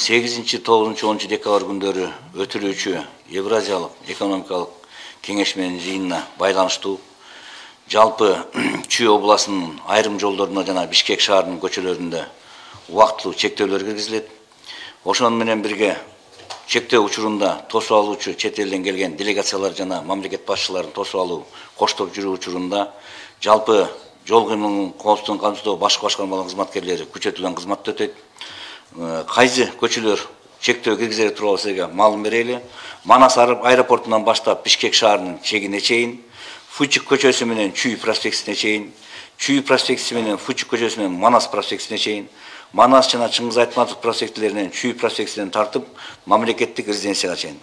8-9-10 декабрь күндөрү өтүлүүчү Евразиялык экономикалык кеңеш менен жыйынына байланыштуу жалпы Чүй областынын айрым жолдоруна жана Бишкек шаарынын көчөлөрүндө убактылуу чектөөлөр киргизилет. Ошону менен бирге чектөө учурунда тосуп алуучу чет элден келген делегациялар жана мамлекет башчыларын тосуп алуу, коштоп жүрүү учурунда жалпы жол кыймылынын коопсуздугун камсыздоо башкы башкармалардын кызматкерлери күчөтүлгөн кызматты өтөйт. Кайсы көчөлөр чектөө киргизери тууралуу сизге маалым берели. Манас аэропортунан баштап Бишкек шаарынын чегине чейин, Фучик көчөсү менен Чүй проспектисине чейин, Чүй проспектиси менен Фучик көчөсү менен Манас проспектисине чейин, Манас жана Чыңгыз Айтматов проспектилеринен Чүй проспектисинен тартып мамлекеттик резиденцияга чейин.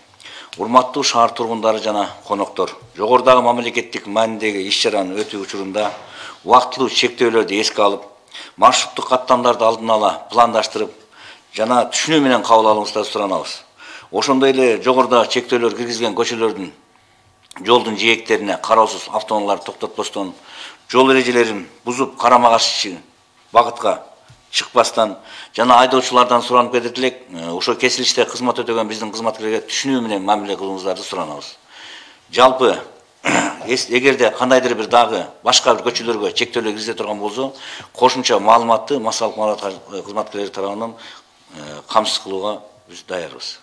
Урматтуу шаар тургундары жана коноктор, жогорудагы мамлекеттик маанидеги иш-чаранын өтүү учурунда убактылуу чектөөлөрдү эске алып, маршруттук каттамдарды алдын ала пландаштырып жана түшүнүү менен кабыл алууңуздарды суранабыз. Ошондой эле жогоруда чектөөлөр киргизилген көчөлөрдүн жолдун жээктерине кароосуз автоунааларды токтотпостон, жол эрежелерин бузуп карама-каршы багытка чыкпастан жана айдоочулардан суранып кетет элек, ошо кесилиште кызмат өтөгөн биздин кызматкерлерге түшүнүү менен мамиле кылууңуздарды суранабыз. Жалпы эгерде кандайдыр бир дагы башка бир көчөлөргө чектөөлөр киргизиле турган болсо, кошумча маалыматты массалык маалымат кызматкерлери тарабынан камсыз кылууга биз даярбыз.